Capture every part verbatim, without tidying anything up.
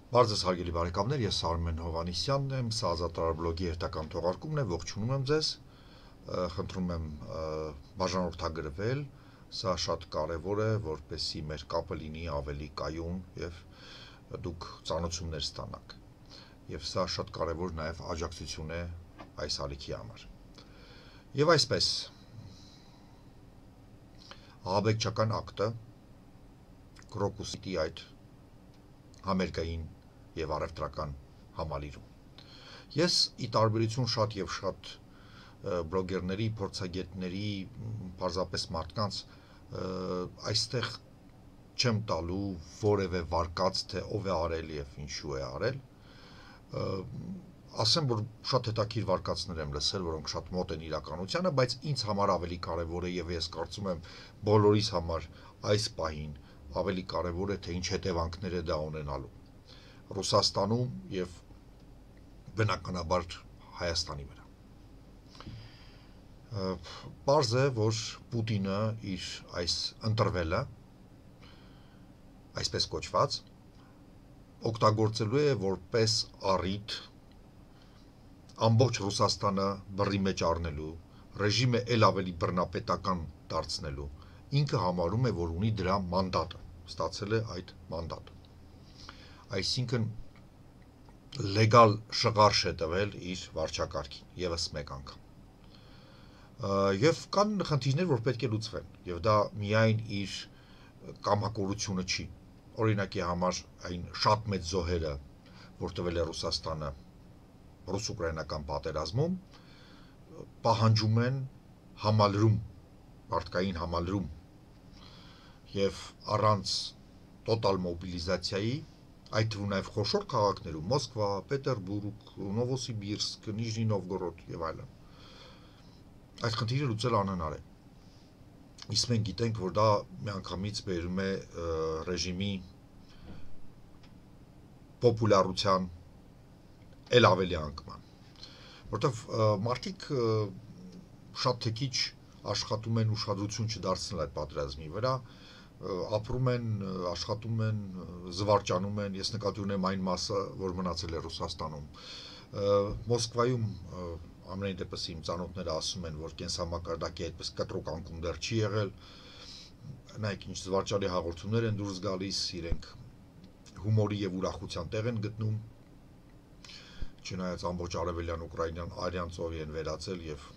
Բարձր հարգելի բարեկամներ, ես Արմեն Հովանիսյանն եմ, սա Ազատարար բլոգի հերթական թողարկումն է, ողջունում եմ ձեզ, խնդրում եմ բաժանորդագրվել, սա շատ կարևոր է, որպեսզի մեր կապը լինի ավելի կայուն եւ դուք ծանոթություններ ստանաք։ Եվ սա շատ կարևոր նաեւ աջակցություն է այս ալիքի համար։ Եվ այսպես ահաբեկչական ակտը Կրոկուսի այդ համերգային եւ առևտրական համալիրում։ Ես ի տարբերություն շատ եւ շատ բլոգերների, փորձագետների, պարզապես մարդկանց այստեղ չեմ տալու որևէ վարկած, թե ով է արել եւ ինչու է արել։ Ասեմ, որ շատ հետաքրքիր վարկածներ եմ լսել, որոնք շատ մոտ են իրականությանը, բայց ինձ համար ավելի կարևոր է եւ ես կարծում եմ բոլորիս համար այս պահին ավելի կարևոր է, թե ինչ հետևանքներ է դա ունենալու Ռուսաստանում եւ բնականաբար Հայաստանի վրա։ Պարզ է, որ Պուտինը իր այս ընտրվելը, այսպես կոչված, օգտագործելու է որպես առիթ ամբողջ Ռուսաստանը բռի մեջ առնելու, ռեժիմը ել ավելի բռնապետական դարձնելու, ինքը համարում է, որ ունի դրա մանդատը, ստացել է այդ մանդատը։ Այսինքն լեգալ շղարշ է տվել իր վարչակարգին, եւս մեկ անգամ։ Եվ կան խնդիրներ, որ պետք է լուծվեն, եւ դա միայն իր կամակորությունը չի։ Օրինակի համար այն շատ մեծ զոհերը, որ տվել է Ռուսաստանը ռուս-ուկրաինական պատերազմում, պահանջում են համալրում, մարդկային համալրում, եւ առանց տոտալ մոբիլիզացիայի, այդ թվում նաև խոշոր քաղաքներում, Մոսկվա, Պետերբուրգ, Նովոսիբիրսկ, Նիժնի Նովգորոդ եւ այլն, այդ խնդիրը լուծել անհնար է։ Իսկ մենք գիտենք, որ դա միանգամից բերում է ռեժիմի պոպուլարության ել ավելի անկման, որտեղ մարդիկ շատ թե քիչ աշխատում են ուշադրություն չդարձնել այդ պատերազմի վրա, ապրում են, աշխատում են, զվարճանում են, ես նկատի ունեմ այն մասը, որ մնացել է Ռուսաստանում։ Մոսկվայում ամենայն դեպս իմ ծանոթները ասում են, որ կենսամակարդակի այդպես կտրուկ անկում դեռ չի եղել, նայեք ինչ զվարճալի հաղորդումներ են դուրս գալիս, իրենք հումորի եւ ուրախության տեղ են գտնում, չնայած ամբողջ արևելյան Ուկրաինան արյան ծովի են վերածել եւ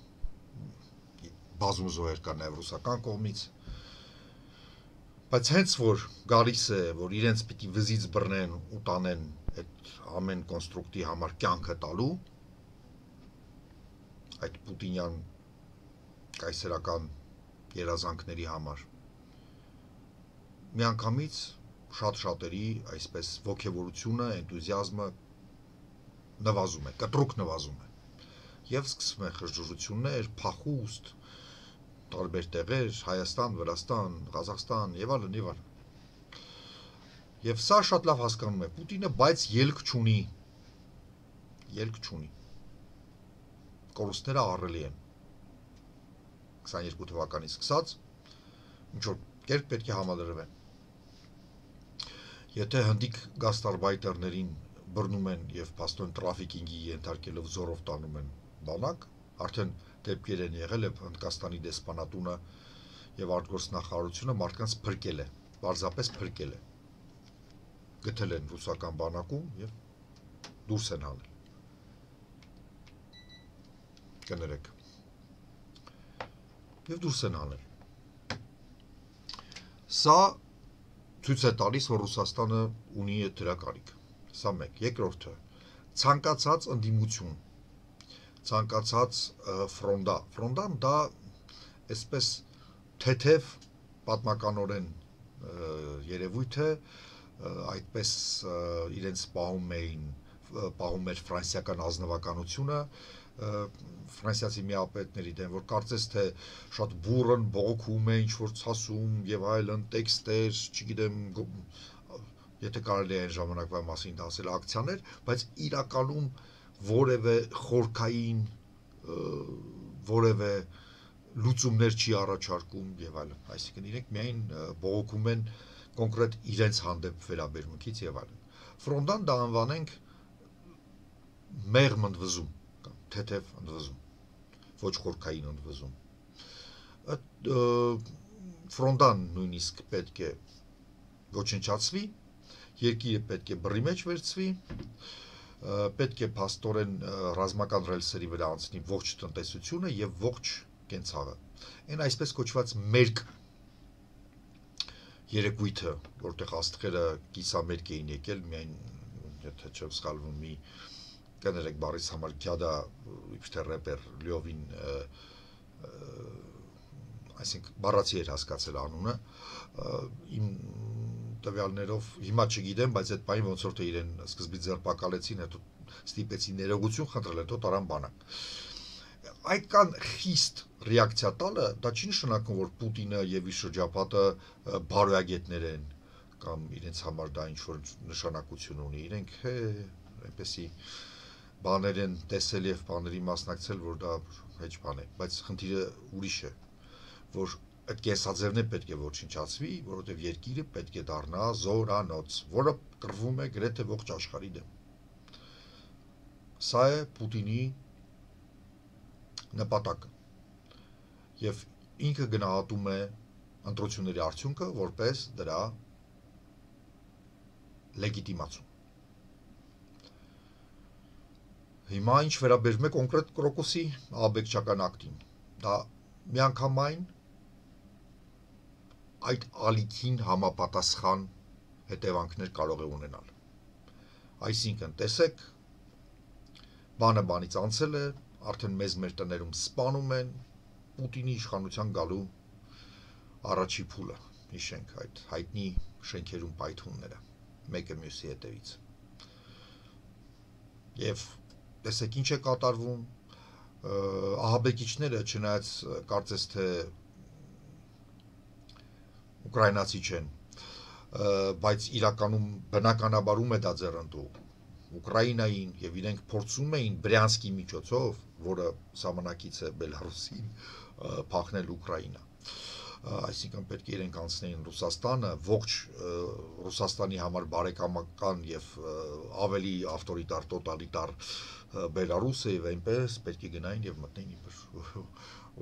բազում զոհեր կան նաեւ ռուսական կողմից։ Բայց հենց որ գալիս է, որ իրենց պիտի վզից բռնեն ու տանեն այդ ամեն կոնստրուկտի համար կյանքը տալու, այդ պուտինյան կայսերական երազանքների համար, միանգամից շատ-շատերի այսպես ոգևորությունը, էնտուզիազմը նվազում է, կտրուկ նվազում է, եւ սկսվում է խժժություններ, փախուստ, տարբեր տեղեր, Հայաստան, Վրաստան, Ղազախստան եւ այլն եւ այլն։ Եվ սա շատ լավ հասկանում է Պուտինը, բայց ելք չունի։ Ելք չունի։ Կորուստները ահռելի են։ քսաներկու թվականից սկսած ինչ որ կերպ պետք է համալրվեն։ Եթե հնդիկ գաստարբայտերներին բռնում են եւ փաստորեն տրաֆիկինգի ենթարկելով զորով տանում են բանակ, արդեն դեպքեր են եղել, եւ Հնդկաստանի դեսպանատունը եւ արտգործնախարարությունը մարդկանց փրկել է, պարզապես փրկել է։ Գտել են ռուսական բանակում եւ դուրս են հանել։ Կներեք։ Եվ դուրս են հանել։ Սա ցույց է տալիս, որ Ռուսաստանը ունի դրա կարիք։ Սա մեկ, երկրորդը, ցանկացած ընդդիմություն, ցանկացած ֆրոնդա, ֆրոնդան դա այսպես թեթև պատմականորեն երևույթ է, այդպես իրենց պահում էին, պահում էր ֆրանսիական ազնվականությունը, ֆրանսիացի միապետների դեմ, որ կարծես թե շատ բուրըն բողոքում է, ինչ որ ցասում եւ այլն, տեքստեր, չգիտեմ, եթե կարելի է այն ժամանակվա մասին ասել ակցիաներ, բայց իրականում որևէ խորքային, որևէ լուծումներ չի առաջարկում եւ այլն, այսինքն իրենք միայն բողոքում են կոնկրետ իրենց հանդեպ վերաբերմունքից եւ այլն։ ֆրոնդան դա անվանենք մեղմ ընդվզում կամ թեթև ընդվզում, ոչ խորքային ընդվզում։ Ֆրոնդան նույնիսկ պետք է ոչնչացվի, երկիրը պետք է բռի մեջ վերցվի, պետք է փաստորեն ռազմական ռելսերի վրա անցնի ողջ տնտեսությունը եւ ողջ կենցաղը։ Այն այսպես կոչված մերկ երեկույթը, որտեղ աստղերը կիսամերկ էին եկել, միայն եթե չեմ սխալվում, մի կներեք բարիս համար գյադա իբր թե ռեպեր լյովին, այսինքն բառացի էր հասկացել անունը, իմ տվյալներով հիմա չգիտեմ, բայց այդ բանի ոնց որ թե իրեն սկզբից ձերբակալեցին, հետո ստիպեցին ներողություն խնդրել, հետո տարան բանակ։ Այդքան խիստ ռեակցիա տալը, դա չի նշանակում, որ Պուտինը եւ իր շրջապատը բարոյագետներ են կամ իրենց համար դա ինչ-որ նշանակություն ունի, իրենք հե այնպեսի բաներ են տեսել եւ բաների մասնակցել, որ դա հեչ բան է, բայց խնդիրը ուրիշ է, որ այդ կենսաձևն է պետք է ոչնչացվի, որովհետեւ երկիրը պետք է դառնա զորանոց, որը կռվում է գրեթե ողջ աշխարհի դեմ։ Սա է Պուտինի նպատակը։ Եվ ինքը գնահատում է ընտրությունների արդյունքը որպես դրա լեգիտիմացում։ Հիմա ինչ վերաբերում է կոնկրետ Կրոկոսի աբեկչական ակտին, դա միանգամայն այդ ալիքին համապատասխան հետևանքներ կարող է ունենալ։ Այսինքն, տեսեք, բանը բանից անցել է, արդեն մեզ մեր տներում սպանում են, Պուտինի իշխանության գալու առաջի փուլը, հիշենք այդ հայտնի շենքերում պայթյունները, մեկը մյուսի հետևից։ Եվ տեսեք ինչ է կատարվում, ահաբեկիչները, չնայած կարծես թե ուկրաինացի չեն, բայց իրականում բնականաբարում է դա ձեռնտու Ուկրաինային եւ իրենք փորձում էին Բրյանսկի միջոցով, որը սահմանակից է Բելարուսին, փախնել Ուկրաինա։ Այսինքն պետք է իրենք անցնեին Ռուսաստանը, ողջ Ռուսաստանի համար բարեկամական եւ ավելի ավտորիտար, տոտալիտար Բելարուսը եւ այնպես պետք է գնային եւ մտնեին իբր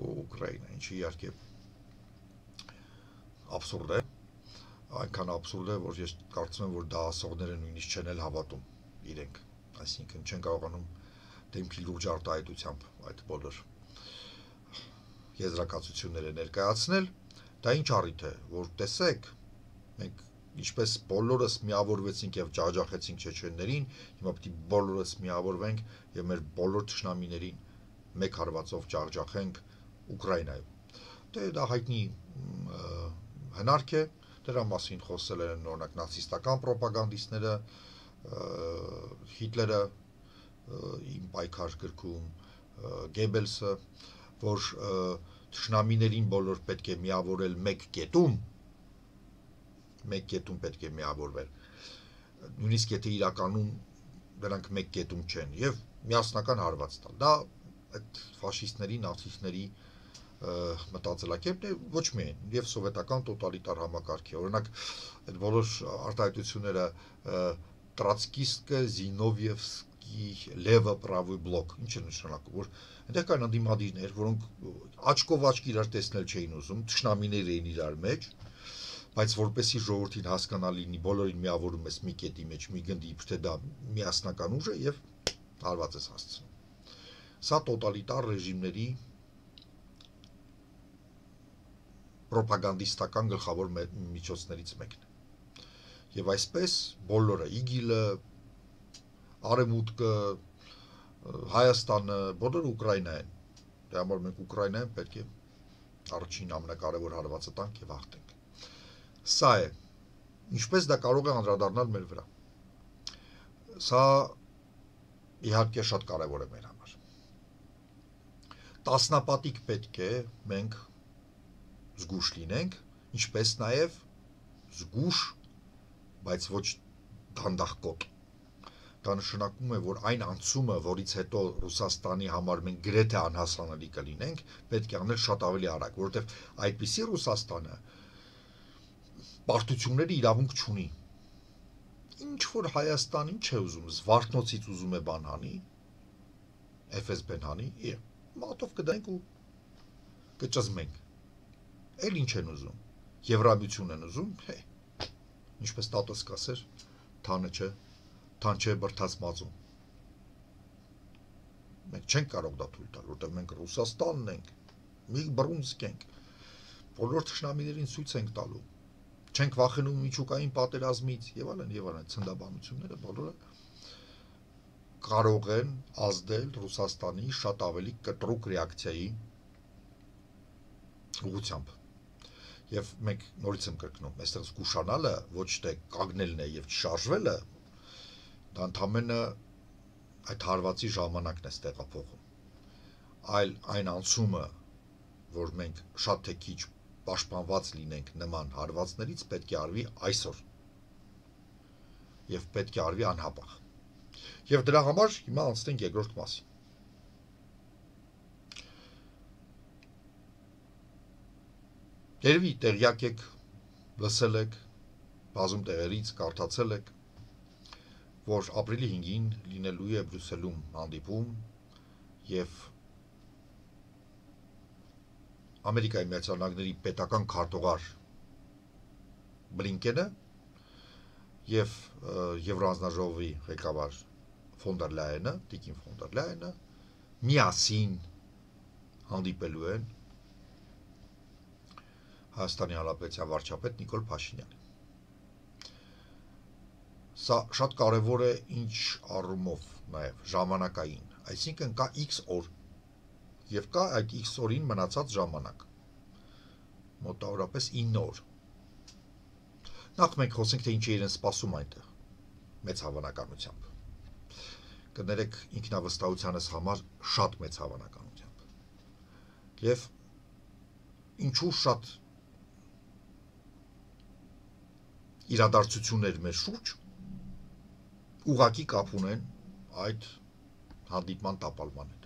Ուկրաինա, ինչը իհարկե абսուրդ է, այնքան абսուրդ է, որ ես կարծում եմ, որ դա ասողները նույնիսկ չեն էլ հավատում իրենք, այսինքն չեն կարողանում դեմքի լուրջ արտահայտությամբ այդ բոլոր եզրակացությունները ներկայացնել, դա ինչ առիթ է, որ տեսեք, մենք ինչպես բոլորս միավորվեցինք եւ ջախջախեցինք չեչեններին, հիմա պետք է բոլորս միավորվենք եւ մեր բոլոր թշնամիներին մեկ հարվածով ջախջախենք Ուկրաինայում։ Դե դա հայտնի հնարք է, դրա մասին խոսել են օրինակ նացիստական ռոպագանդիստները, Հիտլերը իմ պայքար գրքում, Գեբելսը, որ թշնամիներին բոլոր պետք է միավորել մեկ կետում, մեկ կետում պետք է միավորվել, նույնիսկ եթե իրականում դրանք մեկ կետում չեն, եւ միասնական հարված տալ։ Դա այդ ֆաշիստների, նացիստների մտածելակերպն է, ոչ միայն, եւ սովետական տոտալիտար համակարգի, օրինակ այդ բոլոր արտահայտությունները Տրացկիստը, Զինովիևսկի, Լևը, Պրավոյ բլոկ, ինչ է նշանակում, որ այնտեղ կան ընդդիմադիրներ, որոնք աչքով աչք իրար տեսնել չէին ուզում, թշնամիներ էին իրար մեջ, բայց որպեսի ժողովրդին հասկանալի լինի, բոլորին միավորում ես մի կետի մեջ, մի գնդի, իբր թե դա միասնական ուժ է եւ հարված ես հասցնում։ Սա տոտալիտար ռեժիմների ռոպագանդիստական գլխավոր միջոցներից մեկն է։ Եվ այսպես բոլորը, Իգիլը, Արևմուտքը, Հայաստանը, բոլորը Ուկրաինա են։ Դրա համար մենք Ուկրաինայում պետք է առաջին ամենակարևոր հարվածը տանք եւ հաղթենք։ Սա է, ինչպես դա կարող է անդրադառնալ մեր վրա։ Սա իհարկե շատ կարևոր է մեր համար։ Տասնապատիկ պետք է մենք զգուշ լինենք, ինչպես նաեւ զգուշ, բայց ոչ դանդաղկոտ։ Դա նշանակում է, որ այն անցումը, որից հետո Ռուսաստանի համար մենք գրեթե անհասանելի կլինենք, պետք է անել շատ ավելի արագ, որովհետև այդպիսի Ռուսաստանը պարտությունների իրավունք չունի։ ինչ որ Հայաստանին չէ ուզում, Զվարթնոցից ուզում է բան հանի, Էֆ Էս Բեն հանի, մատով կդանք ու կճզմենք։ Էլ ինչ են ուզում, Եվրամիություն են ուզում, հե, ինչպես տատս կասեր, թանը չէ, թան չէ բրթած մածում։ Մենք չենք կարող դա թույլ տալ, որտեղ մենք Ռուսաստանն ենք, մի Բրունսկ ենք, բոլոր թշնամիներին ցույց ենք տալու, չենք վախենում միջուկային պատերազմից եւ այլն եւ այլն, ցնդաբանությունները բոլորը կարող են ազդել Ռուսաստանի շատ ավելի կտրուկ ռեակցիայի ուղղությամբ։ Եվ մենք նորից եմ կրկնում, այստեղ զգուշանալը ոչ թե կանգնելն է եւ չշարժվելը, դա ընդհանրապես այդ հարվածի ժամանակն է ստեղափոխում, այլ այն անցումը, որ մենք շատ թե քիչ պաշտպանված լինենք նման հարվածներից, պետք է արվի այսօր եւ պետք է արվի անհապաղ։ Եվ դրա համար հիմա անցնենք երկրորդ մասին։ Երևի տեղյակ եք, լսել եք, բազում տեղերից կարդացել եք, որ ապրիլի հինգին լինելու է Բրյուսելում հանդիպում եւ Ամերիկայի Միացյալ Նահանգների պետական քարտուղար Բլինկենը եւ Եվրոանձնաժողովի ղեկավար Ֆոն դեր Լայենը, Տիկին Ֆոն դեր Լայենը միասին հանդիպելու են Հայաստանի Հանրապետության վարչապետ Նիկոլ Փաշինյանին։ Սա շատ կարևոր է ինչ առումով նաև ժամանակային, այսինքն կա X օր եւ կա այդ X օրին մնացած ժամանակ։ Մոտավորապես ինը օր։ Նախ մենք խոսենք թե ինչի իրեն սպասում այնտեղ մեծ հավանականությամբ։ Կներեք ինքնավստահությանս համար շատ մեծ հավանականությամբ։ Եվ ինչու շատ իրադարձություններ մեր շուրջ ուղղակի կապ ունեն այդ հանդիպման տապալման հետ։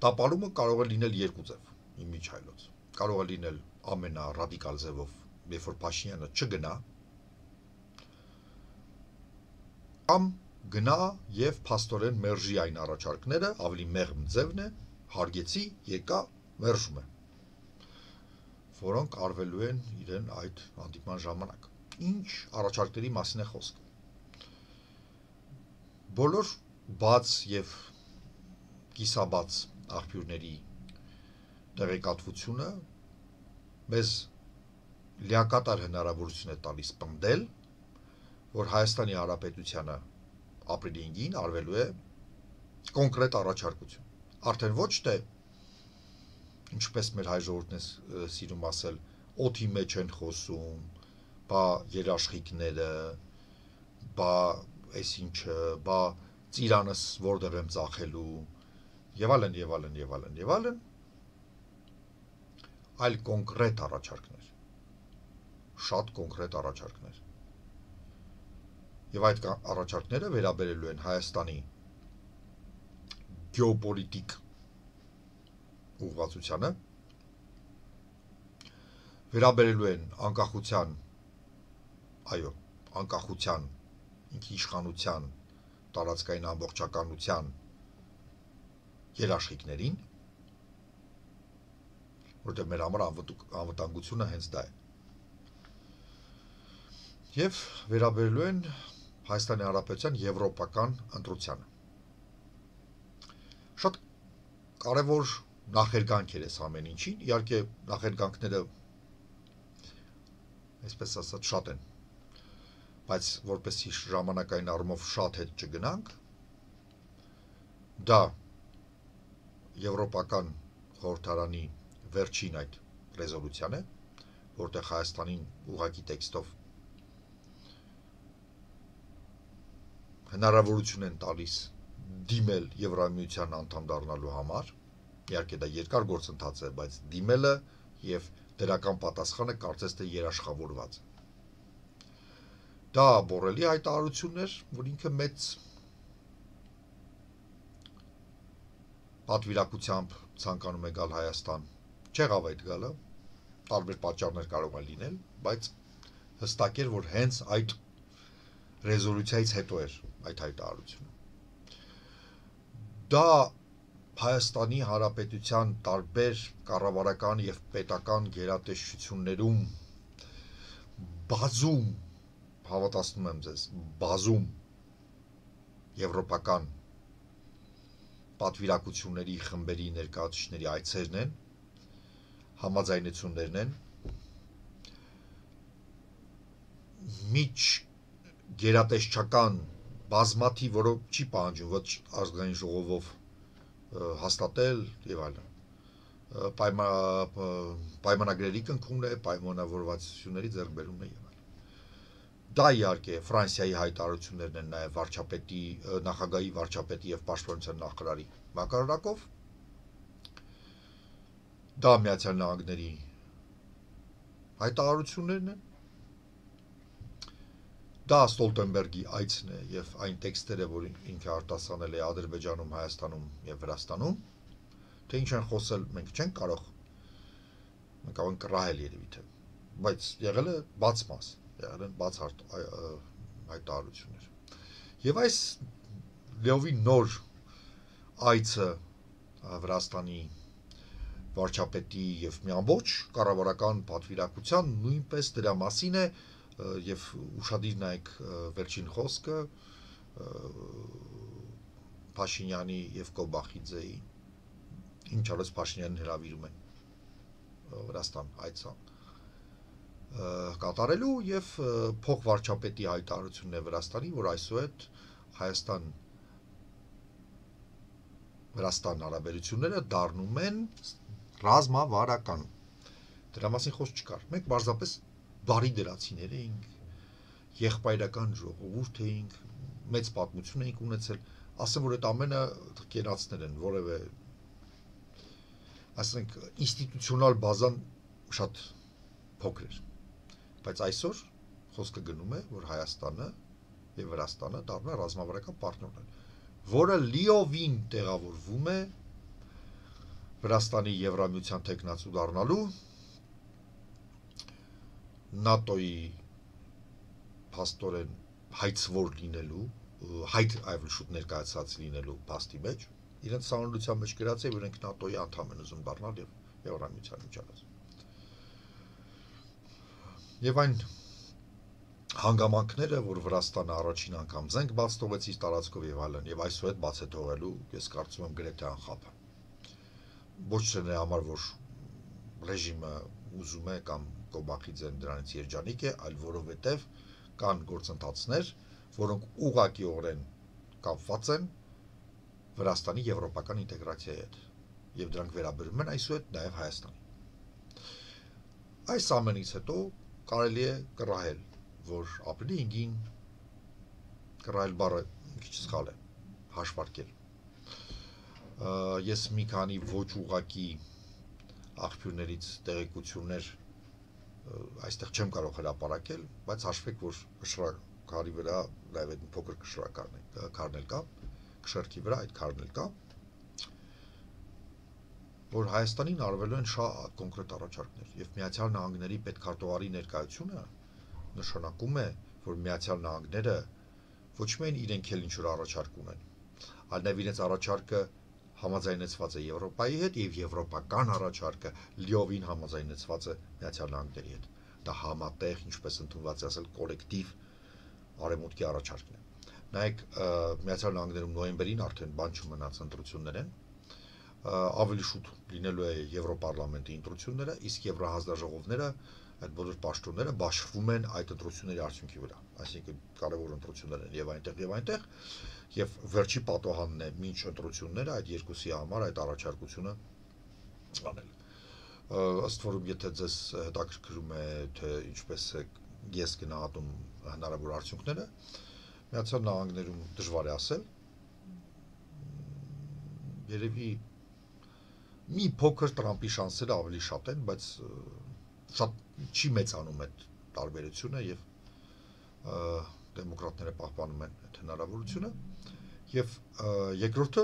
Տապալումը կարող է լինել երկու ձև, իմիջայլոց։ Կարող է լինել ամենառադիկալ ձևով, երբ որ Փաշինյանը չգնա, կամ գնա եւ փաստորեն մերժի այն առաջարկները, ավելի մեղմ ձևն է, հարգեցի, եկա, մերժում է, որոնք արվելու են իրեն այդ հանդիպման ժամանակ։ Ինչ առաջարկների մասին է խոսքը։ Բոլոր բաց եւ կիսաբաց աղբյուրների տեղեկատվությունը մեզ լիակատար հնարավորություն է տալիս պնդել, որ Հայաստանի Հանրապետությանը ապրիլի հինգին արվելու է կոնկրետ առաջարկություն։ Արդեն ոչ թե, ինչպես մեր հայ ժողովուրդն է սիրում ասել, օդի մեջ են խոսում, բա երաշխիքները, բա այս ինչը, բա ծիրանս որտեղ եմ ծախելու, եւ այլն, եւ այլն, եւ այլն, եւ այլն, այլ կոնկրետ առաջարկներ, շատ կոնկրետ առաջարկներ։ Եվ այդ առաջարկները վերաբերելու են Հայաստանի գեոպոլիտիկ ուղղվածությանը, վերաբերելու են անկախության, այո, անկախության, ինքիշխանության, տարածքային ամբողջականության երաշխիքներին, որտեղ մեր համար անվտանգությունը հենց դա է։ Եվ վերաբերելու են Հայաստանի Հանրապետության եվրոպական ընտրությանը։ Շատ կարևոր նախերգանք էր այս ամեն ինչին, իհարկե նախերգանքները, այսպես ասած, շատ են, բայց որպեսզի ժամանակային առումով շատ հետ չգնանք, դա Եվրոպական խորհրդարանի վերջին այդ ռեզոլյուցիան է, որտեղ Հայաստանին ուղղակի տեքստով հնարավորություն են տալիս դիմել Եվրամիության անդամ դառնալու համար, իհարկե դա երկար գործընթաց է, բայց դիմելը եւ դրական պատասխանը կարծես թե երաշխավորված է։ Դա բորելի հայտարարություն էր, որ ինքը մեծ պատվիրակությամբ ցանկանում է գալ Հայաստան, չեղավ այդ գալը, տարբեր պատճառներ կարող են լինել, բայց հստակ էր, որ հենց այդ ռեզոլյուցիայից հետո էր այդ հայտարարությունը։ Դա Հայաստանի Հանրապետության տարբեր կառավարական եւ պետական գերատեսչություններում բազում, հավատացնում եմ ձեզ, բազում եվրոպական պատվիրակությունների խմբերի ներկայացուցիչների այցերն են, համաձայնություններն են, միջ գերատեսչական բազմաթիվ, որով չի պահանջում ոչ ազգային ժողովով հաստատել եւ այլն, պայմանագրերի կնքումն է, պայմանավորվածությունների ձեռքբերումն է եւ այլն։ Դա իհարկե Ֆրանսիայի հայտարարություններն են նաեւ վարչապետի, նախագահի, վարչապետի եւ պաշտպանության նախարարի մակարդակով։ Դա Միացյալ Նահանգների հայտարարություններն են։ Դա Ստոլտենբերգի այցն է եւ այն տեքստերը, որ ինքը արտասանել է Ադրբեջանում, Հայաստանում եւ Վրաստանում, թե ինչ են խոսել, մենք չենք կարող, մենք կարող ենք կռահել երևի թե, բայց եղել է բաց մաս, եղել են բաց հայտարարություններ։ Եվ այս լիովին նոր այցը Վրաստանի վարչապետի եւ մի ամբողջ կառավարական պատվիրակության նույնպես դրա մասին է եւ ուշադիր նայեք վերջին խոսքը Փաշինյանի եւ Կոբախիձեի, ինչ արած Փաշինյանին հրավիրում են Վրաստան այցա կատարելու եւ փոխվարչապետի հայտարարությունն է Վրաստանի, որ այսուհետ Հայաստան Վրաստան հարաբերությունները դառնում են ռազմավարական։ Դրա մասին խոսք չկար։ Մենք բարձրապես բարի դրացիներ էինք, եղբայրական ժողովուրդ էինք, մեծ պատմություն էինք ունեցել, ասեմ, որ այդ ամենը կենացներ են, որևէ, ասենք, ինստիտուցիոնալ բազան շատ փոքր էր, բայց այսօր խոսքը գնում է, որ Հայաստանը եւ Վրաստանը դառնա ռազմավարական պարտներներ, որը լիովին տեղավորվում է Վրաստանի Եվրամիության թեկնածու դառնալու, ՆԱՏՕ-ի փաստորեն հայցվոր լինելու, հայտ այլ շուտ ներկայացած լինելու փաստի մեջ, իրենց սահմանության մեջ գրած է, որ իրենք ՆԱՏՕ-ի անդամ են ուզում դառնալ եւ Եվրամիության միջանաց։ Եվ այն հանգամանքները, որ Վրաստանը առաջին անգամ զենք բաց թողեց իր տարածքով եւ այլն, եւ այսուհետ բաց է թողելու, ես կարծում եմ գրեթե անխափ։ Ոչ թե նրա համար, որ ռեժիմը ուզում է կամ Կոբախիձեն դրանից երջանիկ է, այլ որովհետեւ կան գործընթացներ, որոնք ուղղակիորեն կապված են Վրաստանի եվրոպական ինտեգրացիայի հետ, եւ դրանք վերաբերում են այսուհետ նաեւ Հայաստանի։ Այս ամենից հետո կարելի է կռահել, որ ապրիլի հինգին կռահել բառը մի քիչ սխալ է, հաշվարկել։ Ես մի քանի ոչ ուղղակի աղբյուրներից տեղեկություններ այստեղ չեմ կարող հրապարակել, բայց հաշվեք, որ քարի վրա նաև այդ փոքր քարն էլ կա, քշերքի վրա այդ քարն էլ կա, որ Հայաստանին արվելու են շատ կոնկրետ առաջարկներ, եւ Միացյալ Նահանգների պետքարտուղարի ներկայությունը նշանակում է, որ Միացյալ Նահանգները ոչ միայն իրենք էլ ինչ-որ առաջարկ ունեն, այլ նաև իրենց առաջարկը համաձայնեցված է Եվրոպայի հետ եւ եվրոպական առաջարկը լիովին համաձայնեցված է Միացյալ Նահանգների հետ։ Դա համատեղ, ինչպես ընդունված է ասել, կոլեկտիվ արևմուտքի առաջարկն է։ Նայեք, Միացյալ Նահանգներում նոյեմբերին արդեն բան չմնաց ընտրություններ են, ավելի շուտ լինելու է Եվրոպարլամենտի ընտրությունները, իսկ Եվրահանձնաժողովները, այդ բոլոր պաշտոնները բաշխվում են այդ ընտրությունների արդյունքի վրա, այսինքն կարևոր ընտրություններ են եւ այնտեղ եւ այնտեղ, եւ վերջի պատոհանն է մինչ ընտրությունները այդ երկուսի համար այդ առաջարկությունը անել։ Ըստ որում, եթե ձեզ հետաքրքրում է, թե ինչպես է ես գնահատում հնարավոր արդյունքները, Միացյալ Նահանգներում դժվար է ասել, երևի մի փոքր Տրամպի շանսերը ավելի շատ են, բայց շատ չի մեծանում այդ տարբերությունը եւ դեմոկրատները պահպանում են այդ հնարավորությունը եւ երկրորդը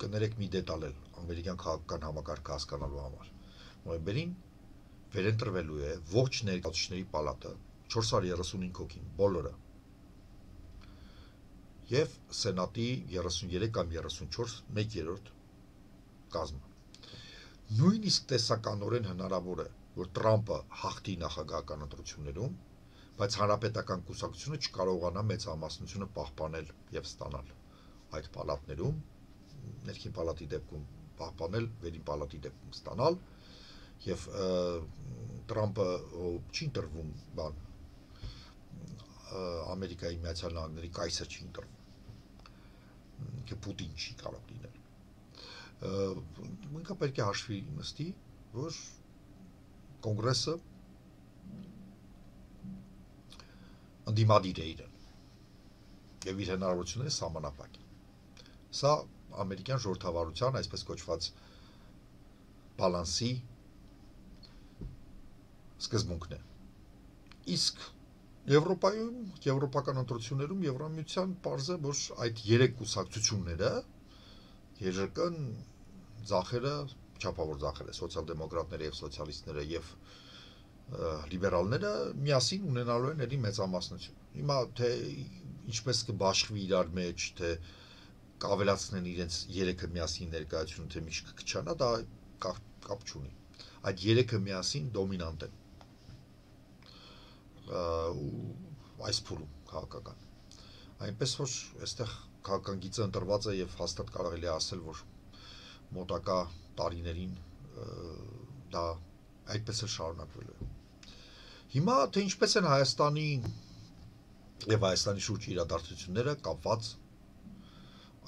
կներեք մի դետալ էլ ամերիկյան քաղաքական համակարգը հասկանալու համար։ Նոյեմբերին վերընտրվելու է ողջ ներկայացուցիչների պալատը չորս հարյուր երեսունհինգ հոգին, բոլորը։ Եվ Սենատի երեսունյոթ կամ երեսունչորս մեկ երրորդ կազմը։ Նույնիսկ տեսականորեն հնարավոր է, որ Տրամպը հաղթի նախագահական ընտրություններում, բայց հանրապետական կուսակցությունը չկարողանա մեծամասնությունը պահպանել եւ ստանալ այդ պալատներում, ներքին պալատի դեպքում պահպանել, վերին պալատի դեպքում ստանալ, եւ Տրամպը չի ընտրվում բան Ամերիկայի Միացյալ Նահանգների կայսր չի ընտրվում, કે Պուտին չի կարող լինել։ Ինքը պետք է հաշվի նստի, որ կոնգրեսը ընդդիմադիր է իրեն եւ իր հնարավորությունները սահմանափակ են։ Սա ամերիկյան ժողովրդավարության այսպես կոչված բալանսի սկզբունքն է։ Իսկ Եվրոպայում, եվրոպական ընտրություններում Եվրամիության պարզ է, որ այդ երեք կուսակցությունները ԵԺԿ-ն, ձախերը, չափավոր ձախերը, սոցիալ-դեմոկրատները եւ սոցիալիստները եւ լիբերալները միասին ունենալու են էլի մեծամասնություն։ Հիմա թե ինչպես կբաշխվի իրար մեջ, թե կավելացնեն իրենց երեքը միասին ներկայությունը, թե մի կքչանա, դա կապ չունի։ Այդ երեքը միասին դոմինանտ են այս փուլում քաղաքական։ Այնպես որ այստեղ քաղաքական գիծը ընտրված է եւ հաստատ կարելի է ասել, որ մոտակա տարիներին դա այդպես էլ շարունակվելու է։ Հիմա թե ինչպես են Հայաստանի եւ Հայաստանի շուրջ իրադարձությունները կապված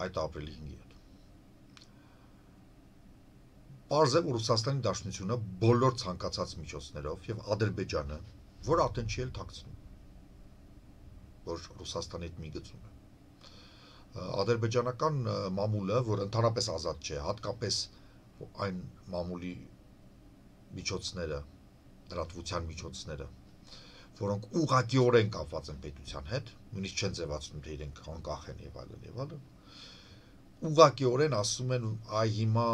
այդ ապրիլի հինգի հետ։ Պարզ է, որ Ռուսաստանի Դաշնությունը բոլոր ցանկացած միջոցներով եւ Ադրբեջանը, որ արդեն չի էլ թաքցնում, որ Ռուսաստանի հետ մի գծում է։ Ադրբեջանական մամուլը, որ ընդհանրապես ազատ չէ, հատկապես այն մամուլի միջոցները, լրատվության միջոցները, որոնք ուղղակիորեն կապված են պետության հետ, նույնիսկ չեն ձևացնում, թե իրենք անկախ են եւ այլն եւ այլն, ուղղակիորեն ասում են, այ հիմա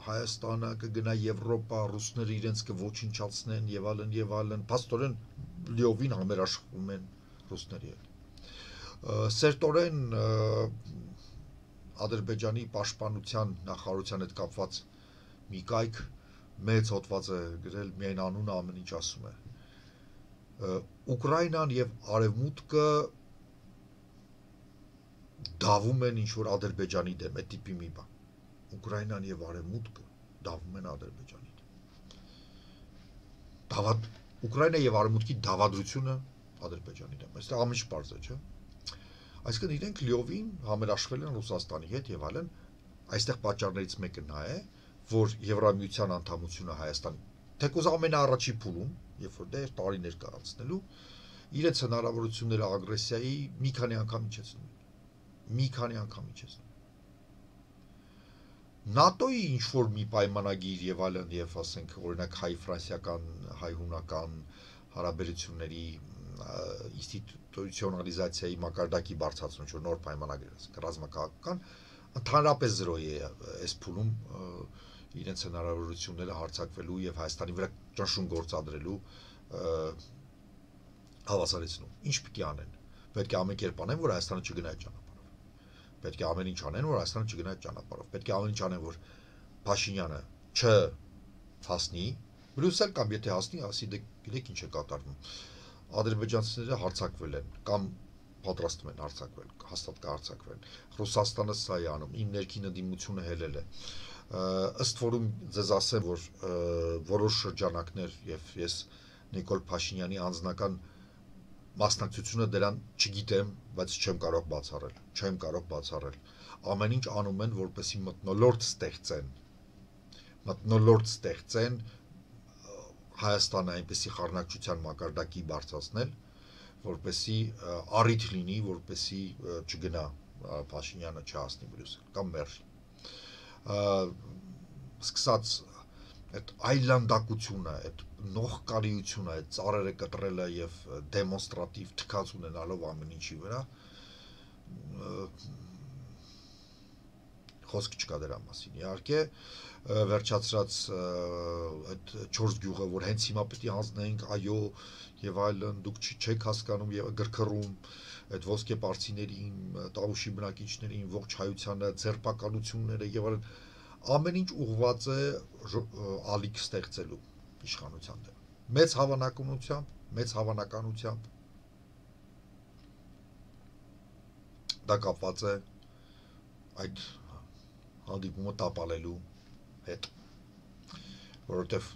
Հայաստանը կգնա Եվրոպա, ռուսները իրենց կոչնչացնեն եւ այլն եւ այլն, փաստորեն լիովին համերաշխվում են ռուսների հետ։ Սերտորեն Ադրբեջանի պաշտպանության նախարարության հետ կապված մի կայք մեծ հոդված է գրել, միայն անունը ամեն ինչ ասում է։ Ուկրաինան եւ Արևմուտքը դավում են ինչ-որ Ադրբեջանի դեմ, այդ տիպի մի բան։ Ուկրաինան եւ Արևմուտքը դավում են Ադրբեջանի դեմ։ Դավադ Ուկրաինա եւ Արևմուտքի դավադրությունը Ադրբեջանի դեմ։ Այստեղ ամեն ինչ պարզ է, չէ՞։ Այսինքն իրենք լիովին համերաշխվել են Ռուսաստանի հետ եւ այլն, այստեղ պատճառներից մեկը նա է, որ Եվրամիության անդամությունը Հայաստան, թեկուզ ամենաառաջի փուլում, երբ որ դեռ տարիներ կա անցնելու, իրենց հնարավորությունները ագրեսիայի մի քանի անգամ իջեցնում են։ Մի քանի անգամ իջեցնում։ ՆԱՏՕ-ի ինչ որ մի պայմանագիր եւ այլն եւ ասենք օրինակ հայ-ֆրանսիական, հայ-հունական հարաբերությունների ինստիտուցիոնալիզացիայի մակարդակի բարձրացում, որ նոր պայմանագիր է, ռազմաքաղաքական, ընդհանրապես զրո է այս փուլում իրենց հնարավորությունները հարձակվելու եւ Հայաստանի վրա ճնշում գործադրելու հավասարեցնում։ Ինչ պիտի անեն։ Պետք է ամեն կերպ անեն, որ Հայաստանը չգնա այդ ճանապարհով։ Պետք է ամեն ինչ անեն, որ Հայաստանը չգնա այդ ճանապարհով։ Պետք է ամեն ինչ անեն, որ Փաշինյանը չհասնի Բրյուսել կամ եթե հասնի, ասի դե գիտեք ինչ է կատարվում։ Ադրբեջանցիները հարձակվել են կամ պատրաստվում են հարձակվել, հաստատ կհարձակվեն։ Ռուսաստանը սա է անում, իմ ներքին ընդդիմությունը հելել է։ Ըստ որում ձեզ ասեմ, որ որոշ շրջանակներ եւ ես Նիկոլ Փաշինյանի անձնական մասնակցությունը դրան չգիտեմ, բայց չեմ կարող բացառել, չեմ կարող բացառել։ Ամեն ինչ անում են, որպեսզի մթնոլորտ ստեղծեն։ Մթնոլորտ ստեղծեն Հայաստանը այնպեսի խառնակցության մակարդակի բարձրացնել, որպեսզի առիթ լինի, որպեսզի չգնա Փաշինյանը չհասնի Բրյուսել կամ մերժի։ Սկսած այդ այլանդակությունը, այդ նողկալիությունը, այդ ծառերը կտրելը եւ դեմոնստրատիվ թքած ունենալով ամեն ինչի վրա խոսք չկա դրա մասին։ Իհարկե, վերջացրած այդ չորս գյուղը, որ հենց հիմա պետք է հանձնենք, այո, եւ այլն, դուք չեք հասկանում եւ գրգռում այդ ոսկե պարսիներին, Տավուշի բնակիչներին, ողջ հայությանը, ձերբակալությունները եւ այլն, ամեն ինչ ուղղված է ալիք ստեղծելու իշխանության դեմ։ Մեծ հավանականությամբ, մեծ հավանականությամբ դա կապված է այդ հանդիպումը տապալելու հետ, որովհետև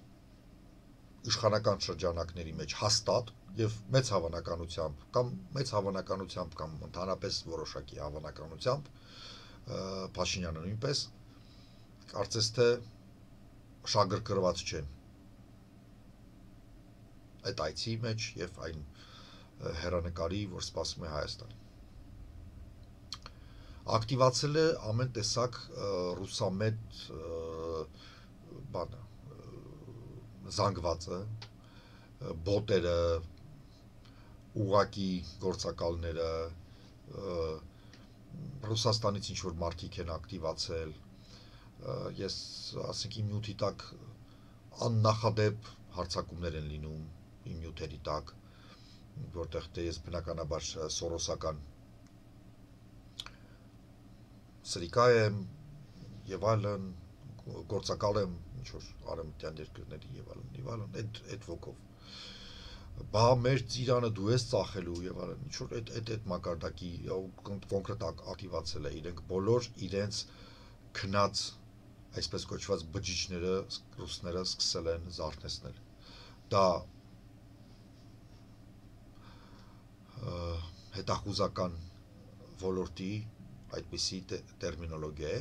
իշխանական շրջանակների մեջ հաստատ եւ մեծ հավանականությամբ կամ մեծ հավանականությամբ կամ ընդհանրապես որոշակի հավանականությամբ Փաշինյանը նույնպես կարծես թե շագրգռված չեն այդ այցի մեջ եւ այն հերանեկարի, որ սպասում է Հայաստան։ Ակտիվացել է ամեն տեսակ ռուսամետ բանը զանգվածը, բոտերը, ուղակի գործակալները, Ռուսաստանից ինչ որ մարդիկ են ակտիվացել, ես ասենք իմ նյութի տակ աննախադեպ հարձակումներ են լինում իմ նյութերի տակ, որտեղ թե ես բնականաբար սորոսական սրիկա եմ եւ այլն, գործակալ եմ ինչ որ արևմտյան երկրների եւ այլն եւ այլն, այդ այդ ոգով բա մեր ծիրանը դու ես ծախելու եւ այլն, ինչ որ այդ այդ այդ մակարդակի կոնկրետ ակտիվացել է, իրենք բոլոր իրենց քնած այսպես կոչված բջիջները ռուսները սկսել են զարթեցնել։ Դա հետախուզական ոլորտի այդպիսի տերմինոլոգիա է,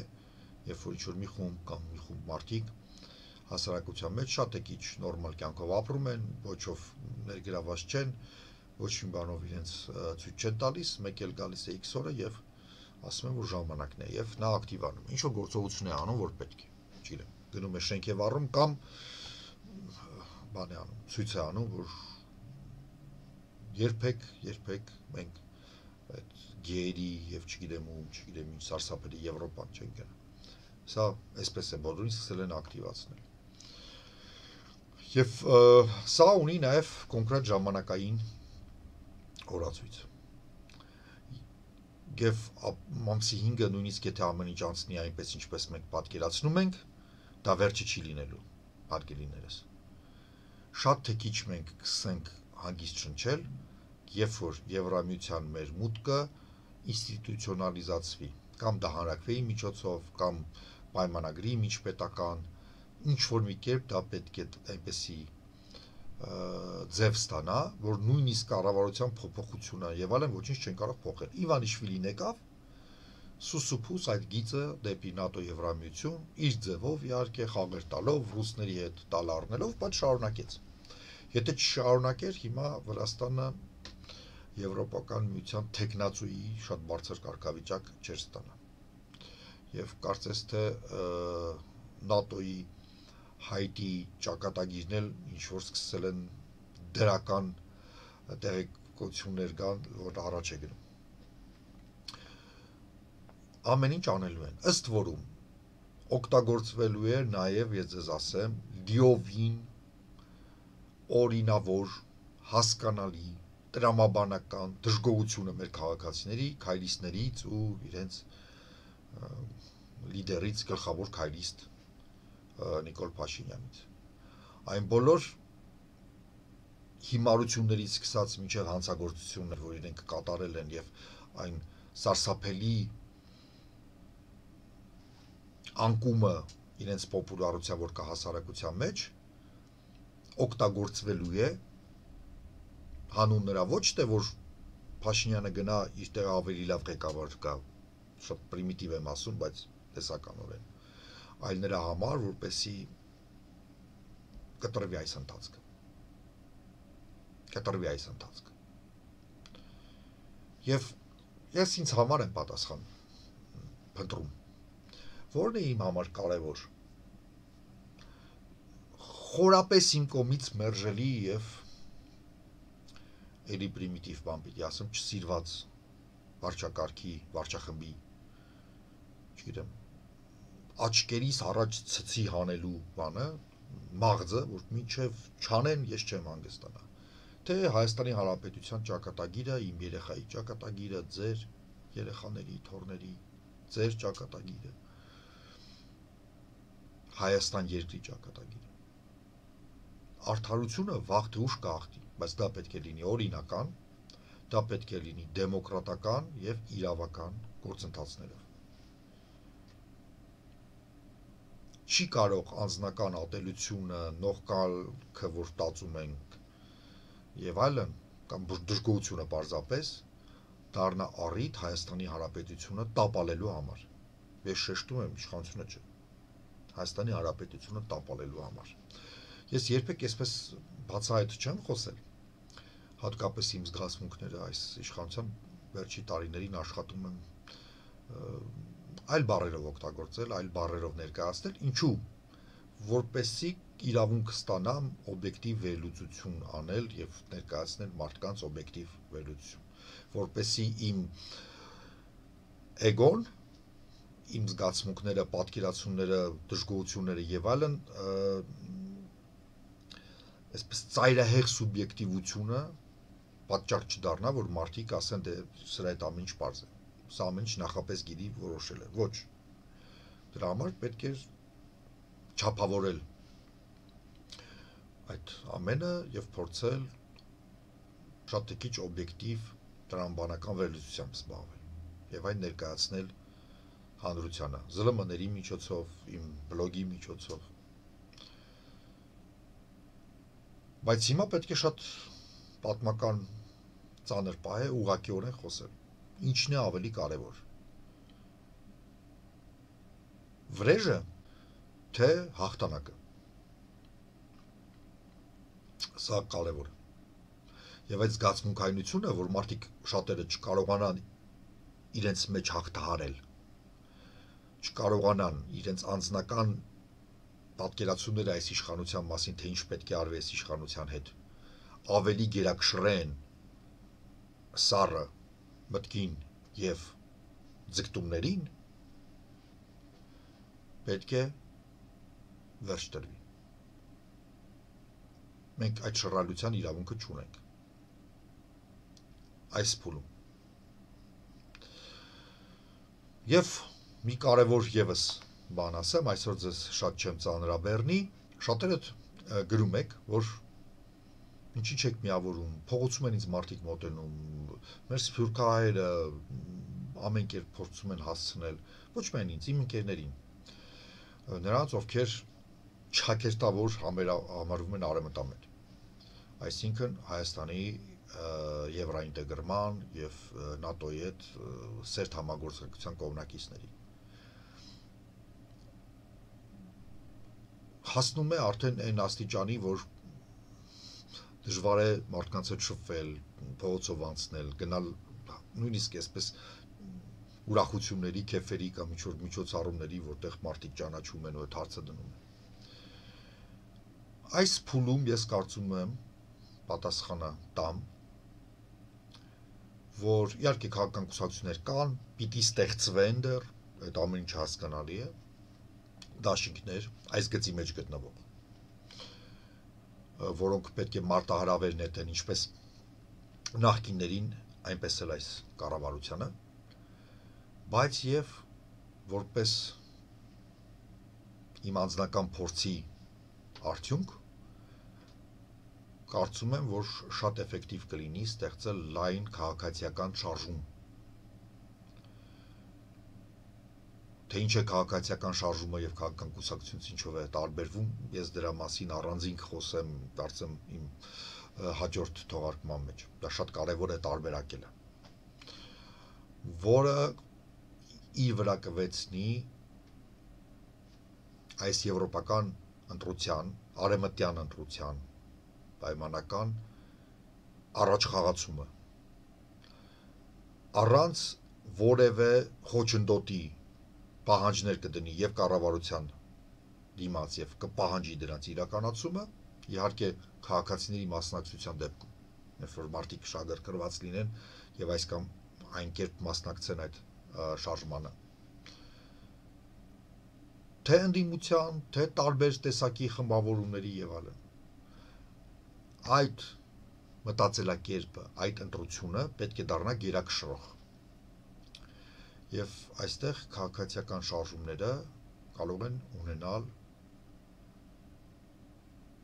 երբ որ ինչ-որ մի խումբ կամ մի խումբ մարդիկ հասարակության մեջ շատ է քիչ նորմալ կյանքով ապրում են, ոչով ներգրաված չեն, ոչ մի բանով իրենց ցույց չեն տալիս, մեկ էլ գալիս է X օրը եւ ասում են, որ ժամանակն է եւ նա ակտիվանում է, ինչ որ գործողություն է անում, որ պետք է, չգիտեմ, գնում է շենք եւ առում կամ բան է անում, ցույց է անում, որ երբեք, երբեք մենք այդ գեյերի եւ չգիտեմ ու չգիտեմ ինչ սարսափելի Եվրոպան չեն գնա։ Սա այսպես է բոլորին սկսել են ակտիվացնել։ Եվ սա ունի նաեւ կոնկրետ ժամանակային օրացույց։ Եվ ամսի հինգը նույնիսկ եթե ամեն ինչ անցնի այնպես ինչպես մենք պատկերացնում ենք, դա վերջը չի լինելու, հարգելիներս։ Շատ թե քիչ մենք կսենք հանգիստ շնչել, երբ որ Եվրամիության մեր մուտքը ինստիտուցիոնալիզացվի, կամ դա հանրակրվեի միջոցով, կամ պայմանագրի միջպետական, ինչ որ մի կերպ դա պետք է այնպեսի ձև ստանա, որ նույնիսկ կառավարության փոփոխությունը եւ այլն ոչինչ չեն կարող փոխել։ Իվանիշվիլին եկավ, սուսուփուս այդ գիծը դեպի ՆԱՏՕ Եվրամիություն, իր ձևով իհարկե խաղեր տալով, ռուսների հետ տալ առնելով, բայց շարունակեց։ Եթե չշարունակեր, հիմա Վրաստանը Եվրոպական միության տեխնացուի շատ բարձր կարգավիճակ չէր ստանա։ Եվ կարծես թե ՆԱՏՕ-ի հայտի ճակատագիրն էլ ինչ որ սկսել են դրական տեղեկություններ կան, որ առաջ է գնում։ Ամեն ինչ անելու են, ըստ որում օգտագործվելու է նաև, ես ձեզ ասեմ, լիովին օրինավոր, հասկանալի, տրամաբանական դժգոհությունը մեր քաղաքացիների, քայլիստներից ու իրենց լիդերից, գլխավոր քայլիստ Նիկոլ Փաշինյանից։ Այն բոլոր հիմարություններից սկսած մինչև հանցագործություններ, որ իրենք կատարել են եւ այն սարսափելի անկումը իրենց պոպուլարության, որ կա հասարակության մեջ, օգտագործվելու է հանուն նրա ոչ թե որ Փաշինյանը գնա իր տեղ ավելի լավ ղեկավար կա, շատ պրիմիտիվ եմ ասում, բայց տեսականորեն, այլ նրա համար, որպեսի կտրվի այս ընթացքը։ Կտրվի այս ընթացքը։ Եվ ես ինձ համար եմ պատասխան փնտրում։ Որն է իմ համար կարևոր։ Խորապես իմ կողմից մերժելի եւ էլի պրիմիտիվ բան պիտի ասեմ, չսիրված վարչակարգի, վարչախմբի, չգիտեմ, աչքերիս առաջ ցցի հանելու բանը, մաղձը, որ մինչև չանեն, ես չեմ հանգստանա։ Թե Հայաստանի Հանրապետության ճակատագիրը, իմ երեխայի ճակատագիրը, ձեր երեխաների, թոռների, ձեր ճակատագիրը, Հայաստան երկրի ճակատագիրը։ Արդարությունը վաղ թե ուշ կհաղթի, բայց դա պետք է լինի օրինական, դա պետք է լինի դեմոկրատական եւ իրավական գործընթացներով։ Չի կարող անձնական ատելությունը, նողկալքը, որ տածում ենք եւ այլն, կամ դժգոհությունը պարզապես դառնա առիթ Հայաստանի Հանրապետությունը տապալելու համար։ Ես շեշտում եմ, իշխանությունը չէ։ Հայաստանի Հանրապետությունը տապալելու համար։ Ես երբեք այսպես բացահայտ չեմ խոսել, հատկապես իմ զգացմունքները այս իշխանության վերջի տարիներին աշխատում եմ այլ բառերով օգտագործել, այլ բառերով ներկայացնել, ինչու, որպեսզի իրավունք ստանամ օբյեկտիվ վերլուծություն անել եւ ներկայացնել մարդկանց օբյեկտիվ վերլուծություն, որպեսզի իմ էգոն, իմ զգացմունքները, պատկերացումները, դժգոհությունները եւ այլն այսպես ծայրահեղ սուբյեկտիվությունը պատճառ չդառնա, որ մարդիկ ասեն, դե սրա այդ ամեն ինչ պարզ է։ Սա ամեն ինչ նախապես գիտի որոշել է։ Ոչ։ Դրա համար պետք է չափավորել այդ ամենը եւ փորձել շատ քիչ օբյեկտիվ տրամաբանական վերլուծությամբ զբաղվել եւ այն ներկայացնել հանրությանը, զլ էմ-ների միջոցով, իմ բլոգի միջոցով։ Բայց հիմա պետք է շատ պատմական ծանր պահ է ուղղակիորեն խոսել։ Ինչն է ավելի կարևոր։ Վրեժը, թե հաղթանակը։ Սա կարևոր է։ Եվ այդ զգացմունքայնությունը, որ մարդիկ շատերը չկարողանան իրենց մեջ հաղթահարել, չկարողանան իրենց անձնական պատկերացումները այս իշխանության մասին, թե ինչ պետք է արվի այս իշխանության հետ, ավելի գերակշռեն սառը մտքին եւ ձգտումներին, պետք է վերջ տրվի։ Մենք այդ շռայլության իրավունքը չունենք այս փուլում։ Եվ մի կարևոր եւս բան ասեմ, այսօր ձեզ շատ չեմ ծանրաբեռնի, շատերը գրում եք, որ ինչի՞ չեք միավորում, փողոցում են ինձ մարդիկ մոտենում, մեր սփյուռքահայերը ամեն կերպ փորձում են հասցնել, ոչ միայն ինձ, իմ ընկերներին, նրանց, ովքեր չակերտավոր համարվում են արևմտամետ, այսինքն Հայաստանի եվրոինտեգրման եւ ՆԱՏՕ-ի հետ սերտ համագործակցության կողմնակիցների։ Հասնում է արդեն այն աստիճանի, որ դժվար է մարդկանց հետ շփվել, փողոցով անցնել, գնալ նույնիսկ այսպես ուրախությունների, քեֆերի կամ ինչ-որ միջոցառումների, որտեղ մարդիկ ճանաչում են ու այդ հարցը դնում են։ Այս փուլում ես կարծում եմ պատասխանը տամ, որ իհարկե քաղաքական կուսակցություններ կան, պիտի ստեղծվեն դեռ, այդ ամեն ինչ հասկանալի է, դաշինքներ, այս գծի մեջ գտնվող, որոնք պետք է մարտահրավեր նետեն ինչպես նախկիններին, այնպես էլ այս կառավարությանը, բայց եւ որպես իմ անձնական փորձի արդյունք կարծում եմ, որ շատ էֆեկտիվ կլինի ստեղծել լայն քաղաքացիական շարժում։ Թե ինչ է քաղաքացիական շարժումը եւ քաղաքական կուսակցությունից ինչով է տարբերվում, ես դրա մասին առանձին խոսեմ, կարծեմ իմ հաջորդ թողարկման մեջ։ Դա շատ կարեւոր է տարբերակելը, որը իր վրա կվեցնի այս եվրոպական ընտրության, արևմտյան ընտրության պայմանական առաջխաղացումը առանց որևէ խոչընդոտի պահանջներ կդնի եւ կառավարության դիմաց եւ կպահանջի դրանց իրականացումը, իհարկե քաղաքացիների մասնակցության դեպքում, երբ որ մարդիկ շահագրգռված լինեն եւ այս կամ այն կերպ մասնակցեն այդ շարժմանը։ թե ընդդիմության, թե տարբեր տեսակի խմբավորումների եւ այլն։ Այդ մտածելակերպը, այդ ընտրությունը պետք է դառնա գերակշռող։ Եվ այստեղ քաղաքացիական շարժումները կարող են ունենալ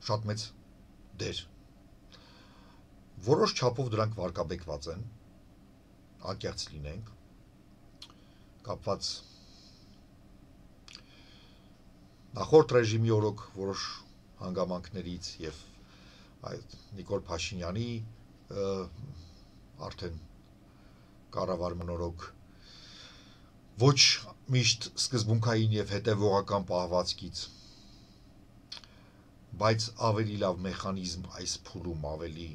շատ մեծ դեր։ Որոշ չափով դրանք վարկաբեկված են, անկեղծ լինենք, կապված նախորդ ռեժիմի օրոք որոշ հանգամանքներից եւ այդ Նիկոլ Փաշինյանի արդեն կառավարման օրոք ոչ միշտ սկզբունքային եւ հետեւողական պահվածքից, բայց ավելի լավ մեխանիզմ այս փուլում ավելի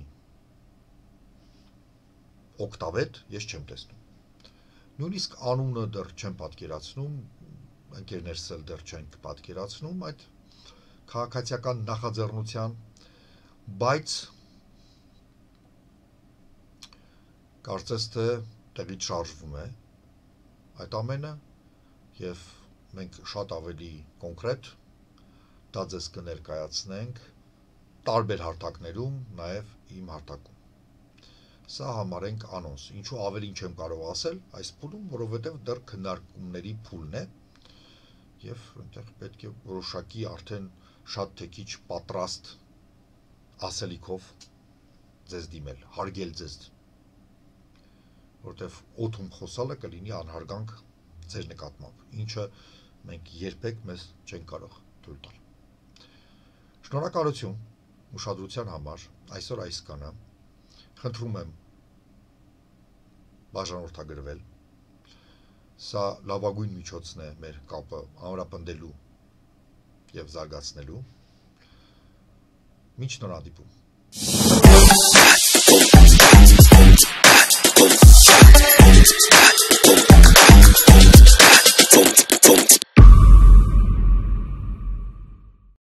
օգտավետ ես չեմ տեսնում։ Նույնիսկ անունը դեռ չեմ պատկերացնում, ընկերներս էլ դեռ չենք պատկերացնում այդ քաղաքացիական նախաձեռնության, բայց կարծես թե տեղից շարժվում է այդ ամենը եւ մենք շատ ավելի կոնկրետ դա ձեզ կներկայացնենք տարբեր հարթակներում, նաեւ իմ հարթակում։ Սա համարենք անոնս, ինչու ավելին չեմ կարող ասել այս փուլում, որովհետեւ դեռ քննարկումների փուլն է եւ այնտեղ պետք է որոշակի արդեն շատ թե քիչ պատրաստ ասելիքով ձեզ դիմել, հարգել ձեզ, որովհետեւ օդում խոսալը կլինի անհարգանք ձեր նկատմամբ, ինչը մենք երբեք մեզ չենք կարող թույլ տալ։ Շնորհակալություն ուշադրության համար, այսօր այսքանը, խնդրում եմ բաժանորդագրվել, սա լավագույն միջոցն է մեր կապը ամրապնդելու եւ զարգացնելու։ Մինչ նոր հանդիպում։